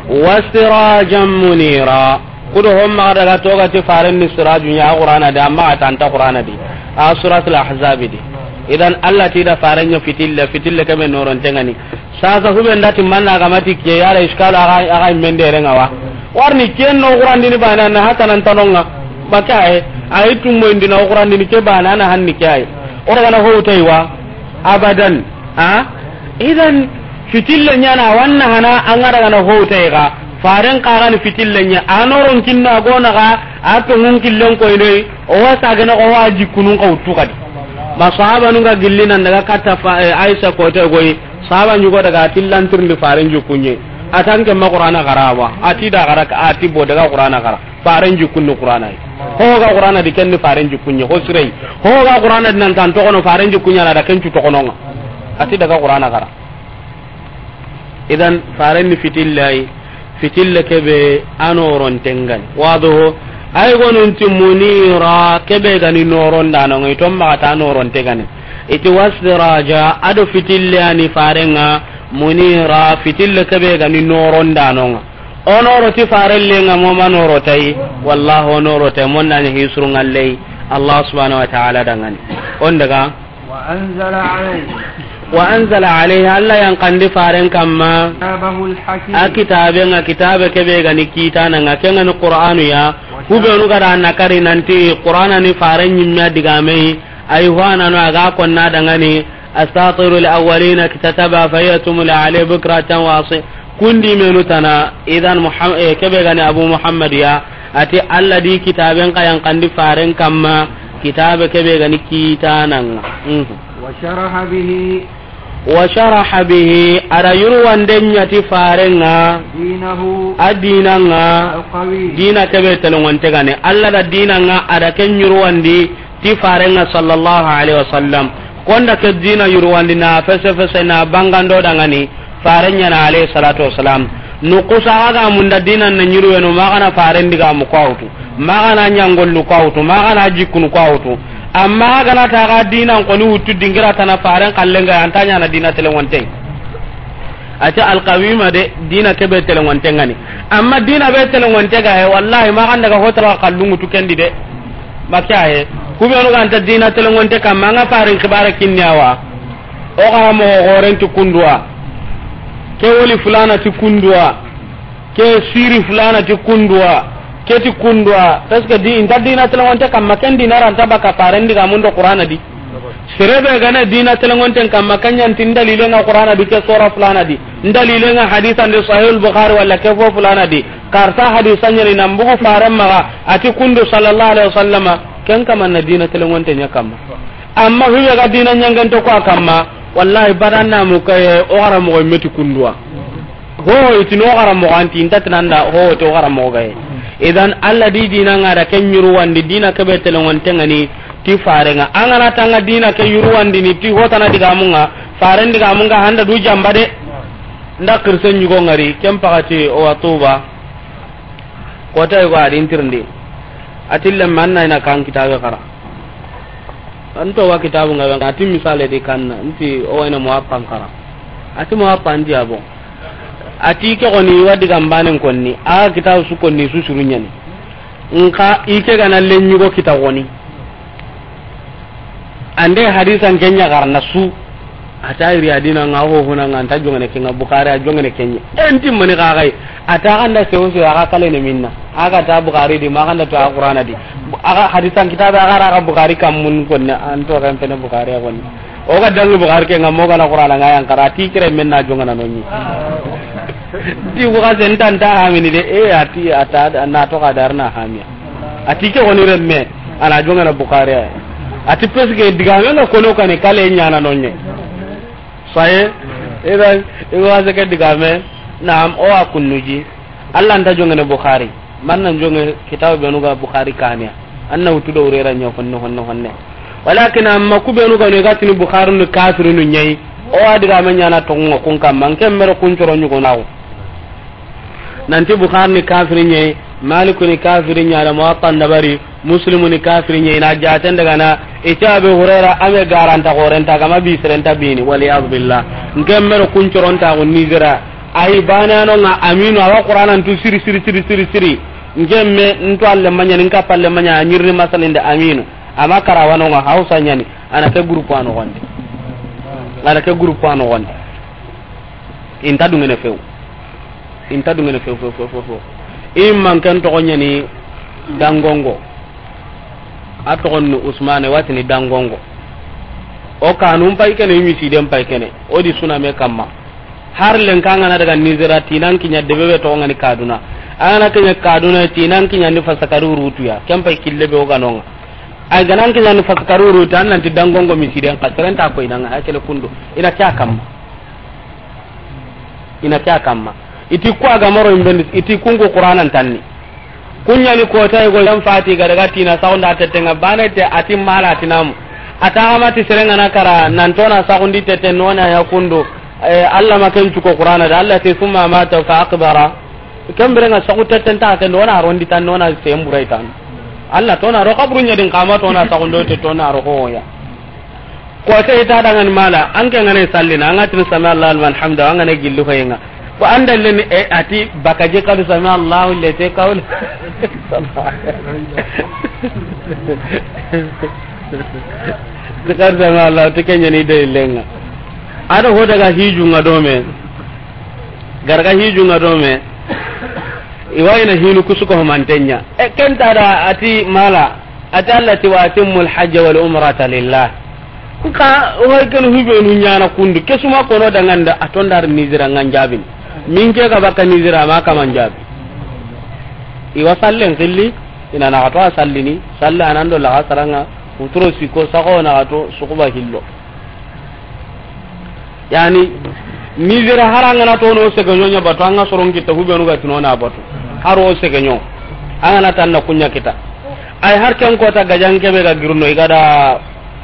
وسراجا منيرا. Kudo hon maxa daga toga ti faren ni siraju ɲa Qur'ana di, amma a ta nta Qur'ana di. A Suratul Ahzab di. Idan Allah ti da faren ɲa fitille, fitille ke be noronte ŋa ni. Sasa hube nda ti manna ga ma ti ke yara iskalo a ga, a ga mendere ŋa wa. Warni ken no Qur'an dini bane na hata nan tano ŋa. Maka ay, ay tummo indi na Qur'an dini ke bane na hanni ke ay. O daga na ho tay wa. Abadan. Ha? Idan fitille ɲa na wa na hana an ga daga na ho tay ga. Faren xa ga ni fitille ɲa. A noron kinna gona ga, a to ŋun killen koy ne. O wa sagene ko wa ji kunun ka wutu kadi. Ba sahabanun ga gilli nan daga katta fa, eh, Aisha ko te goyi. Sahaba ɲugo daga a ti lantirindi faren jikkunɲe. A ti an ke ma Qur'ana xara wa. A ti da xara, a ti bo daga Qur'ana xara. Faren jikkun ni Qur'ana yi. Ho ga Qur'ana di ken ni faren jikkunɲe. Ho sirei. Ho ga Qur'ana di nan tan toxono faren jikkunɲa na da ken cu toxononga. A ti daga Qur'ana xara. Idan, faren ni fitilla yi, fitilla kebe a noronten ga ni. Wado, ay gonun ti munira, kebe ga ni norondanon ŋa, i ton maxa ta noronte ga ni. I ti wasiraja, a do fitilla ni faren ŋa, munira, fitilla kebe ga ni norondanon ŋa. O noro ti faren lenŋa mo ma noro tayi, wallahi o noro tayi, mon na ɲa hisru ŋallei, Allah subhanahu wa ta'ala dangani. On daga. وأنزل عليه. وأنزل عليه، Alla yan kandi faren kamma. كتابه الحكيم. A kitabe ŋa, kitabe kebe ga ni kitana ŋa, ken ga ni Qur'anu ya. Kubenu ga da na kari nanti Qur'ana ni faren ɲimme a digame yi, ay hwana no a ga konna dangani, أساطير الأولين اكتتبها فهي تملى عليه بكرة وأصيلا. Kundi menu tana, idan Muham-, eh, kebe ga ni Abu Muhammad ya, a ti Alla di kitaben xa yan kandi faren kamma, kitabe kebe ga ni kitana ŋa. Mhm. وشرح به. وشرح به, a da yurwanden ɲa ti faren ŋa, دينه. A dina ŋa, القويم. Dina kebe telengonte ga ni. Alla da dina ŋa, a da ken yurwandi, ti faren ŋa sallallahu alaihi wasallam. Konda ke dina yurwandi na fese fese na bangando dangani faren ɲa na alayhi salatu wassalam. Nukusa ga munda dina na ɲuruweno ma ga na faren digamu ko a wutu. Ma ga na ɲangollu ko a wutu. Ma ga na jikkunu ko a wutu. Amma ga na ta ga dina ko ni wutu dingira tana faren kallenga anta ɲa na dina telengonte. A ti alqawima de, dina kebe telengonte ga ni. Amma dina be telengonte ga he, wallahi ma ga na daga hotara kallungu tu kendi de. Maka he. Kubenu ga nta dina telengonte kamma, an ga farin kibara kinni a wa. O ga mo goren ti kunduwa. Ke woli fulana ti kunduwa. Ke siri fulana ti kunduwa. Ke ti kunduwa. Parce que di, inta dina telengonte kamma, ken dina ranta baka faren digamun do Qur'ana di. Serebe ga na dina telengonten kamma, kanyan tin dalile nga Qur'ana di, ke sora fulana di, dalile nga hadisan di Sahih al-Bukhari wala ke fo fulana di, karta hadisan ɲa ni nan bugu faren maga, a ti kundu sallallahu alaihi wasallama, ken kamma na dina telengonte ɲa kamma. Amma hube ga dina ɲanganto ko a kamma, wallahi badanna mu kaye, o gara mo meti kunduwa. Ho, i ti no gara mo anti, inta tinanda, ho, to gara mo gaye. Idan, Alla di dina nga da ken yurwandi, dina kebe telengonte nga ni, ti faren ŋa. An ga na tanga dina ke yurwandi ni, ti hotana digamun ŋa, faren digamun ŋa handa du jamba de. Nda kirsen ɲugo ngari, ken pakati o wa Tuba. Kota yugo a di ntirindi. A ti lemme an na ina kan kitabe xara. An to wa kitabu nga, a ti misale di kanna, nti o wa ina Muwatta xara. A ti Muwatta ndi abo. A ti ke xoni wa digan banen konni, a kitabu su konni su suru ɲa ni. Nka i ke ga na le ɲugo kita xoni. Ande hadisan ke ɲa garna su. A ta iri a dina nga ho huna nga nta jongene ke nga Bukhari a jongene ke ɲa. Enti mani ga gai. A ta ganda sewo sewo a ga kale ne minna. A ga ta Bukhari di ma ganda to a Qur'ana di. A ga hadisan kitabe a ga ra ga Bukhari kammun konna an to kan pene Bukhari a konni. O ga dangi Bukhari ke nga mo ga na Qur'ana nga yan kara ti kire men na jongana nonni. Ti ko ga sen tan ta hamini de e a ti a ta na to ga darna hamiya. A ti ke woni remme, a na jongana Bukhari ya. A ti parce que digame nga kono kane kale ɲana nonye. Saye, ida, igo asake digame, naam, o wa kunnuji. Alla nta jongene Bukhari. Man nan jonge kitabu benu ga Bukhari kaniya. An na wutu do urera ɲa honne, honne, honne. Walakin amma ku benu ga no ga tini Bukhari nu kafirinu ɲayi. O wa digame ɲana tongo kun kamma, nke mero kun coro ɲugo nawo. Nanti Bukhari ni kafiri ɲayi, Maliku ni kafiri ɲa da Muwatta dabari, Muslimu ni kafiri ɲayi, na jaten daga na, ita Abu Huraira, ame garanta gorenta, gama bi serenta bini, wal iyadu billah. Nke mero kun coronta go Nigeria, ayi bana no nga aminu, awa Qur'ana ntu siri, siri, siri, siri, siri. Nke me ntu alle manya, nka palle manya, nyirni masalinde aminu. Ama karawano nga Hausa ɲani, ana ke groupe ano gonde. Ana ke groupe ano gonde. Inta dungene few. Inta dungene few, few, few, few, few. I manken toxo ɲani Dangongo. A toxon ni Usmane, watini Dangongo. O kanun pay kene, i misiden pay kene. O di suname kamma. Har lenka ngana daga Nigeria, tinan kiɲa debe be toxo ngani Kaduna. Angana kiɲa Kaduna, tinan kiɲa ni fasakari rutuya. Ken pay kille be o ganonga. Ay ga na an ke ɲaani faskaruuru ta, an nan ti dangongo misiden xa, seren nta koyini an ŋa, a kele kundu. I na ke ya kamma. I na ke ya kamma. I ti ku a ga maro imbendi, i ti kunku Qur'anan tanni. Ku ɲaani kota yogo yan fati ga daga ti na saxunda teten ŋa, bane te a ti mala ti namu. A ta xa ma ti seren ŋa na kara, nan to na saxundi teten no na ya kundu. Eh, Alla ma ken cuko Qur'ana da, Alla ti summa mata fa aqbara. Ken bire ŋa saxu teten ta ken do na rondi tan, no na semburai tan. Alla to na ro kaburu ɲa din xa ma to na saxundo te to na ro ho ya. Ko te i ta dangan mala, an ke ŋa ne sallina, an ga tini sami Allahu liman hamda, an ga ne gilli hoyenga. Ko an dalle ni, e, a ti bakaji kadu sami Allahu lete kawle. Kadu sami Allahu ti ke ɲaani dalilenga. A do ho daga hijunga do me. Ga daga hijunga do me. I wa i na hinu kusu ko manten ɲa. E, ken ta da a ti mala. A ti Alla ti, "Wa atimmul hajja wal umrata lillah." Nka, o hay kenu hubenu ɲaana kundu. Ke su ma kono danganda, a to ndar Nizira ŋa n jaabini. Min ke ga bakka Nizira ma kama n jaabi. I wa sallen xilli, i na naxato a sallini, salle a nan do laxa saraŋa, futuro siko, saxo naxato, suxuba hillo. Yani, Nizira hari an ga na tono segeɲo ɲa batu, an ga soron kita hubenu ga tino na batu. Haro segeɲo. An ga na tan na ku ɲa kita. Ay har ken kota gajan kebe ga girno i ga da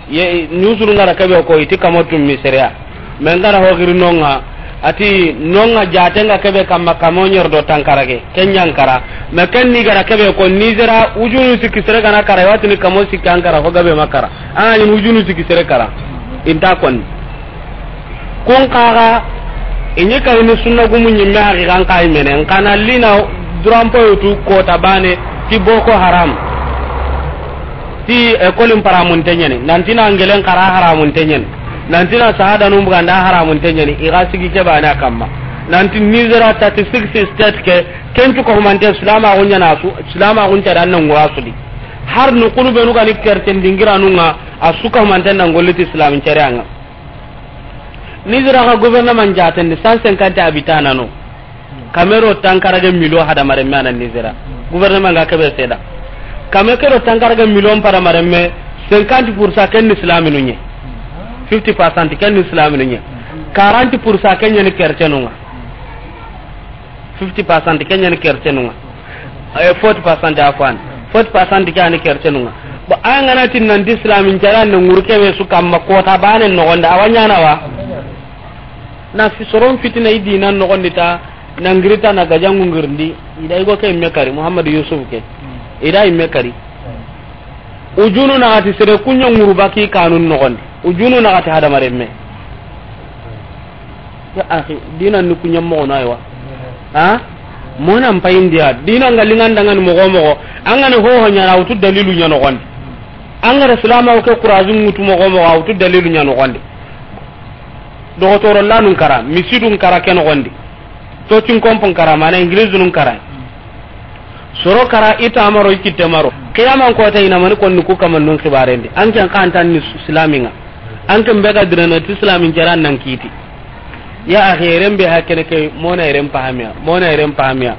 ye, nusuru ngara kebe ko i ti kamo tummi sereya. Men gara ho girno ŋa, a ti no ŋa jaten ga kebe kamma kamo ɲer do tankarage. Ken ɲa n kara. Me ken ni gara kebe ko Nizira ujunu sikki sere ga na kara, i wa tini kamo sikki an kara, ho gabe ma kara. An ga ni ujunu sikki sere kara. I nta konni. Kun kaga, i ɲi kayini sunna gumu ɲimme haqiqan kayi mene. N kana lina durampoyo tu kota bane ti Boko Haram. Ti ekolin paramunte ɲani. Nanti na ngelen kara haramunte ɲani. Nanti na sahada num buganda haramunte ɲani. I ga sigi ke bane a kamma. Nanti Nizira thirty-six state ke, ken cu ko humante silama gunya na su, silama gun ta dan nan gura su di. Har nu kunu benu ga ni kerten dingira nunga, a su ko humante nan golli ti islamin carianga. Nizira ga gouvernement jaten di cent cinquante habitants no. Kame ro tankarage million hadamaren me a na Nizira. Gouvernement ga kebe seda. Kame ke ro tankarage million padamaren me, cinquante pour cent ken ni islaminu ɲe. Fifty percent ken ni islaminu ɲe. Quarante pour cent ken ɲa ni kertenunga. Fifty percent ken ɲa ni kertenunga. Eh, forty percent afwan. Forty percent ke a ni kertenunga. Bon, an ga na tin nanti islamin caran ne nguru kebe su kamma kota bane nogonde, a wa ɲana wa? Na fi soron fitina i dinan nogondi ta, na ngirita na gajangu ngirndi, i da i go ke imme kari, Muhammad Yusuf ke. I da imme kari. Ujunu na gati sere kunya nguru baki kanun nogondi. Ujunu na gati hadamaren me. Ya akhi, dinan ni kunya mogo na aywa. Ha? Mona mpayindiya, dinan ga linganda ngani mogo mogo, an ga ni ho ho ɲana, a wutu dalilu ɲa nogondi. An ga ra silama o ke kurazu ngutu mogo mogo, a wutu dalilu ɲa nogondi. Dogotoro lanun kara, misidun kara ke nogondi. Tocin kompon kara, mana Ingilizinun kara. Soro kara, i ta maro, i kitte maro. Qiyaman kota i na mani konni ku kamannun xibarendi. An ken xa an tan ni silaminga. An ken be ga dirana ti silamin jaran nan kiti. Ya akhi, eren be hakene ke, mona eren pahamiya, mona eren pahamiya.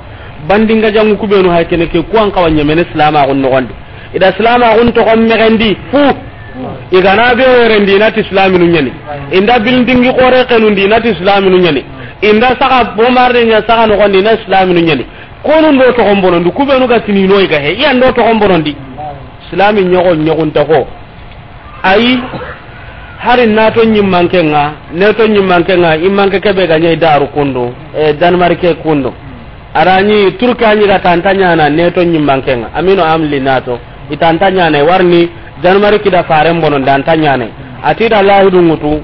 Bandinga jangu kubenu hakene ke, ku an kawa ɲemene silamaxun noxondi. I da silamaxun toxon mexendi fu. I ga na be werendi, i na ti silaminu ɲani. I nda bilindingi xore xenundi, i na ti silaminu ɲani. I nda saxa bomarde ɲa saxa noxondi, i na silaminu ɲani. Konun do toxon bonondi, kubenu ga tini no i ga he, i yan do toxon bonondi. Silami ɲoxo ɲoxunta xo. Ayi, hari nato ɲimmanke ŋa, neto ɲimmanke ŋa, i manke kebe ga ɲa i daru kundu, e, Danemark kundu. Arani Turki a ɲi ga tanta ɲana neto ɲimmanke ŋa, amino amli nato, i tanta ɲana, i warni Danemark da faren bono da anta ɲana. Ati da lahidu ŋutu,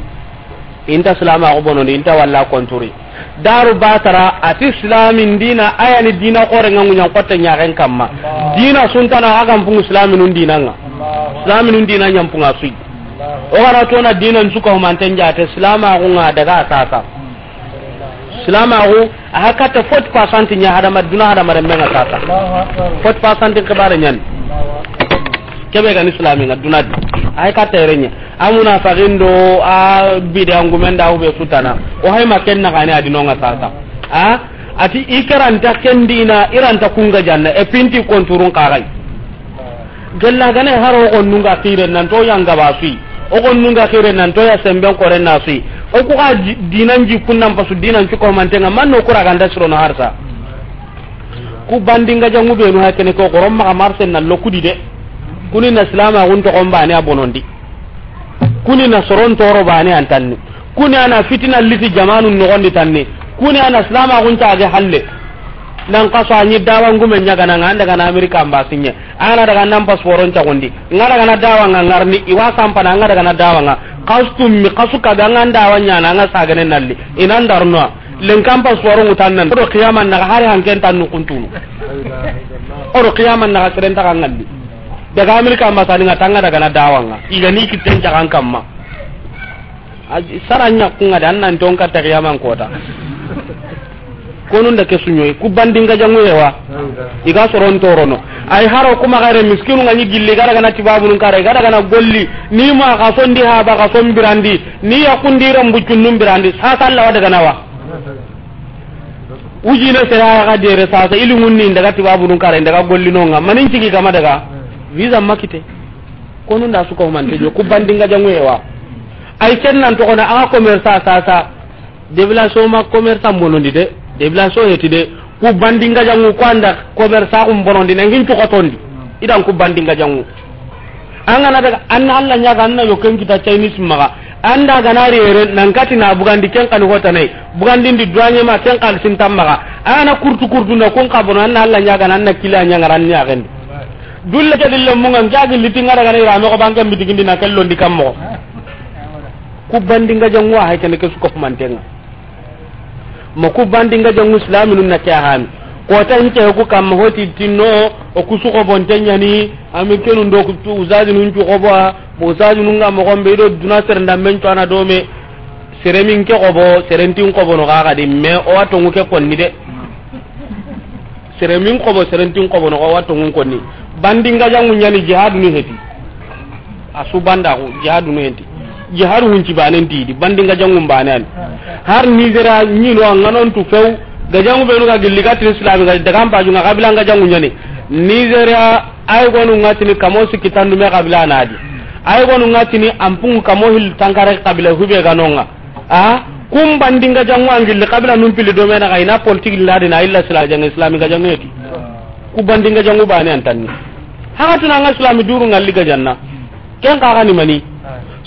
inta silama ko bonondi, inta walla konturi. Daru batara, ati silamin dina, ayani dina xore ŋa ŋuɲan xotte ɲaxen kamma. Dina suntana, a ga mpungu silaminun dina ŋa. Silaminun dina ɲampunga sui. O gara tona dinan suka humanten jate, silamaxu ŋa daga sasa. Silamaxu, a ha katta forty percent ɲa hadama, duna hadama remmen ŋa sasa. Forty percent xibare ɲani. Kebe gani silami ŋa duna di. A ha katta yere ɲa. A munafaxin do a bide angumen da hube sutana. O hay ma ken na gani adinonga sasa. A, ati i karanta ken dina, i ranta kunga janna, e pinti konturun kaxay. Gella gane har o xonnun ga xire nan to yanga ba sui. O xonnun ga xire nan to ya semben kore na sui. O ku ga di-, dinan ji kunnan pasu dinan cuko mantenga manno kura ganda sirono harsa. Ku bandinga jangu benu ha kene ko gorom maxa marse na lokudi de. Kuni na silama gun to gombane a bonondi. Kuni na soron toro bane antanni. Kuni ana fitina liti jamanu nogondi tanni. Kuni ana silama gun ta ge halle. Nan kaso anyi dawa ngume nyaga nan anda gana Amerika ambasinye. Ana daga nan pasporon cagundi. Nga daga na dawa nga ngarni iwa sampana nga daga na dawa nga. Kastum mi kasu ka ga nga dawa nyana nga sagane nalli. Inan darno. Len kan pasporon utannan. Odo kiyaman na hari hanken tannu kuntunu. Odo kiyaman na seren ta ngalli. Daga Amerika ambasadi nga tanga daga na dawa nga. Iga ni kitten cagan kamma. Saranya kunga da nan ton ka tagiyaman kota. Konun da ke sunyoyi ku bandinga jangu yewa. Iga soron torono. Ay haro kuma gare miskinu nga ni gilli gara gana tibabunun kare gara gana golli ni ma ka sondi ha ba ka son birandi ni ya kundi rambu cunnun birandi sasa Allah wa daga nawa. Ujine sera ga dere sasa ilingun ni daga tibabunun kare daga golli nonga manin cigi kama daga visa makite. Konu nda su ko mante jo ku bandinga jangu yewa. Ay ken nan to kona a commerce sasa. Devilaso ma commerce monondi de. Devilaso heti de. Ku bandinga jangu ko anda commerce ku bonondi na ngin to kotondi. Idan ku bandinga jangu. An gana daga anna Allah nyaga anna yo ken kita Chinese maga. Anda gana rere nan kati na bugandi ken kan hota nay. Bugandi ndi duanye ma ken kan sintam maga. Ana kurtu kurtu na kun kabono anna Allah nyaga anna kila nyaga ran nyaga ndi. Dulle ke dille munga njaagi liti nga daga na irame ko banke mitigindi na kello ndi kammo. Ku bandinga jangu wa hay kene ke su ko mantenga. Ma ku bandinga jangu islaminun na ke hami. Ko ta hike ku kamma hoti tinno o ku su ko bonte nyani ami kenu ndo ku tu uzaji nun cu ko bo bo uzaji nun ga mo gombe do duna ser ndamben to ana do me sere min ke ko bo sere ntin ko bo no ga ga di me o wato ngu ke konni de. Sere min xobo, sere ntin xobo no, wa tongun konni. Bandinga jangu nyani jihadu ni heti. A su banda ko jihadu ni heti. Jihadu hunci banen ti di bandinga jangu banen. Har Nigeria nyino nganon tu few. Ga jangu benu ga gilli ga tin Islam ga daga mpaju nga kabila nga jangu nyani. Nigeria ay gonu ngatini kamo sikitandu me kabila nadi. Ay gonu ngatini ampung kamo hil tankare kabila hube ganonga. A kun bandinga jangu angilli kabila num pili do mena ga ina politique la dina illa sila jang islami ga jangu yeti. Ku bandinga jangu bani antanni. Haka tuna nga islami duru ngalli ga janna. Ken ka gani mani.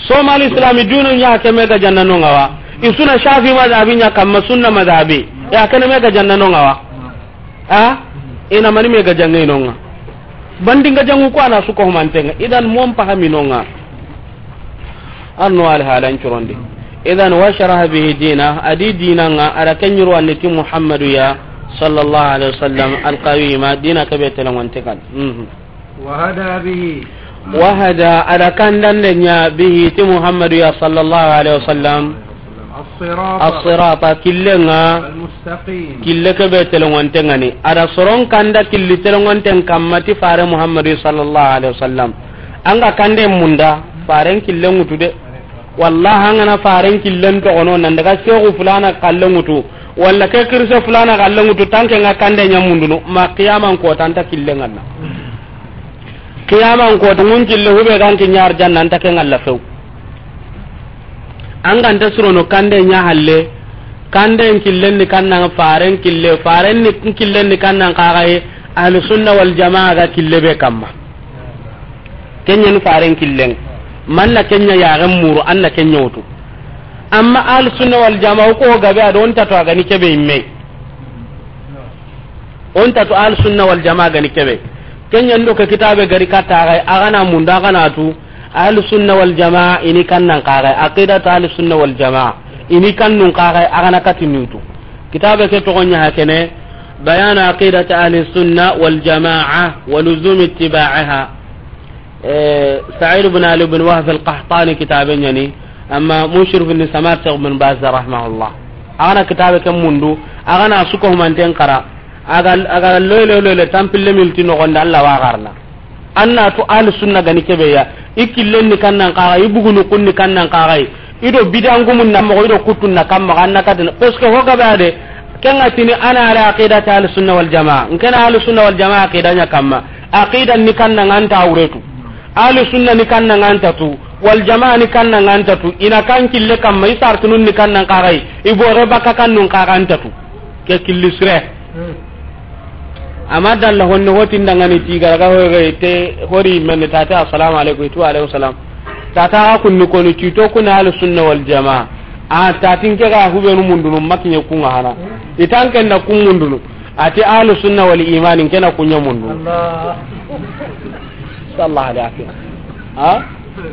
Somali islami dunu nya ke me ga janna no ngawa. Isuna Shafi madhabi nya kamma sunna madhabi. Ya kene me ga janna no ngawa. A ina mani me ga jange no nga. Bandinga jangu ko ana su ko mantenga. Idan mon pahami no nga. Arno al halan curondi. Idan wa sharaha bihi dina, adi dina nga ara kenyuru annati Muhammadu ya sallallahu alaihi wasallam al qawima dina kabe telangon tekan. Mhm. Wa hada bihi. Wa hada ada kandande nya bihi ti Muhammadu ya sallallahu alaihi wasallam. As-sirata. As-sirata killenga. Al-mustaqim. Kille kebe telongonte ngani. Ada soron kanda killi telongonten kamma ti fare Muhammadu sallallahu alaihi wasallam. Anga kande munda faren killen ngutu de. Wallahi angana faren killen to gono nan daga shehu fulana kallen ngutu. Walla ke kirse fulana kallen ngutu tanke nga kande nya mundunu ma qiyaman ko tanta killen nganna. Qiyaman ko tungun kille hube ganki nyar jannan take ngalla few. An ganta surono kande nya halle, kande en killen ni kannan faren kille, faren ni killen ni kannan kaxaye, ahlu sunna wal jamaa ga kille be kamma. Kenya ni faren killen, manna kenya yaxen muru, anna kenya wutu. Amma ahlu sunna wal jamaa ko gabe adon tato a gani kebe imme. On ta tu Ahlus Sunna wal Jamaa gani kebe. Kenya ndo ke kitabe gari katta ga, a gana munda, a gana tu Ahlus Sunna wal Jamaa ini kannan kaga. Aqidat Ahlus Sunna wal Jamaa ini kannun kaga, a gana katini tu. Kitabe ke togonya hakene, Bayanu Aqidat Ahlus Sunna wal Jamaa wa Luzum Ittiba'iha. Eh, Sa'id ibn Ali ibn Wahb al-Qahtani kitabe nyani, amma Mushrif ibn Samar Sheikh ibn Baz rahimahullah. A gana kitabe ke mundu, a gana su ko humanten kara, a ga, a ga loy loy loy tampille milti no gonda Allah wa garna. Anna tu Ahlus Sunna gani kebe ya, i killen ni kannan kaga, i bugunu kunni kannan kaga, i do bidangumun na mo, i do kutun na kamma, anna katana. Parce que ho gabe ade, kenga tini ana ala aqidati Ahlus Sunna wal Jamaa. Nkena Ahlus Sunna wal Jamaa aqida nya kamma. Aqida ni kannan ŋa nta wuretu. Ahlu sunna ni kannan ŋa nta tu. Wal jamaa ni kannan ŋa nta tu. I na kan kille kamma, i sartunun ni kannan kaxay. I bore baka kannun kaxa nta tu. Ke killi sire. Amma dalla honne hotin dangani ti garaga hoye te hori men tata assalamu alaikum tu alaikum salam. Tata ga kunni koni ti to kuna ahlu sunna wal jamaa. A tatin ke ga hubenu mundunu makinya kunga hana. Itan ken na kun mundunu. Ati ahlu sunna wal iman in kena kunya mundu. Allah. Sallallahu alaihi wasallam. Ha?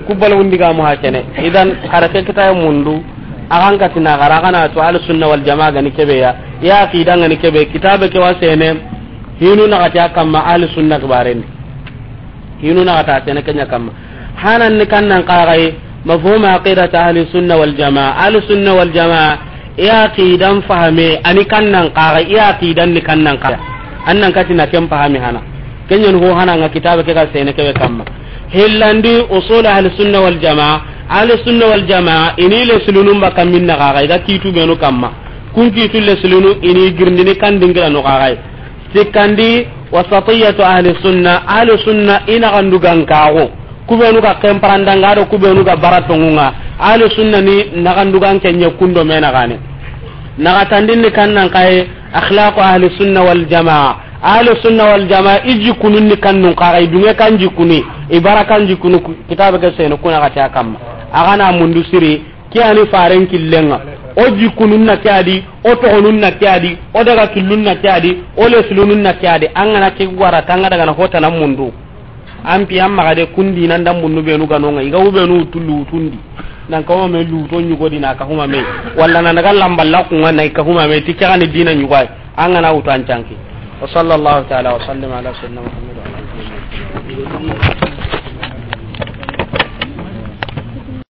Kubal wundi ga mu hakene. Idan harake kita mundu. Akan katina gara kana to ahlu sunna wal jamaa gani kebe ya. Ya aqida ngani kebe kitabe ke wasene. Hinu na kata kamma ahlu sunna kibaren. Hinu na kata sene kenya kamma. Hanan ni kannan kaxay, mafhum aqidat ahli sunna wal jamaa. Ahli sunna wal jamaa, i aqidan fahame, ani kannan kaxay, i aqidan ni kannan kaxay. Annan katina ken fahame hana. Kenyan ho hana nga kitabe ke ga sene kebe kamma. Hillandi usul ahli sunna wal jamaa. Ahli sunna wal jamaa, ini le sulunun ba kammin na kaxay, ga kitu benu kamma. Kun kitu le sulunu, ini girndini kan dingira no kaxay. Sikkandi, wasatiyatu ahli sunna, ahli sunna i naxandugankaxu. Kubenu ga kemparandanga do kubenu ga baratongunga. Ahli sunna ni naxandugan kenye kundo me naxane. Naxatandin ni kannan kaye, akhlaqu ahli sunna wal jamaa. Ahli sunna wal jamaa, i jikkunun ni kannun kaxa, i dunge kan jikkuni, i bara kan jikkunu, ku-, kitabe ke sene kuna xati a kamma. Axana mundu siri, Ke ani faren killenga. O jikkunun na ke adi, o togonun na ke adi, o daga killun na ke adi, o leslunun na ke adi. An gana ke wara tanga daga na hota na mundu. An pi an maga de kundi nan dan mundu benu ganonga. Iga ubenu tullu tundi. Nan kawo me luto nyugo dina ka huma me. Walla nan daga lamballa kunga na ka huma me. Tikka ni dina nyugo ay. An gana utan canki. Wa sallallahu ta'ala wa sallim ala sayyidina Muhammad wa ala alihi wa sahbihi.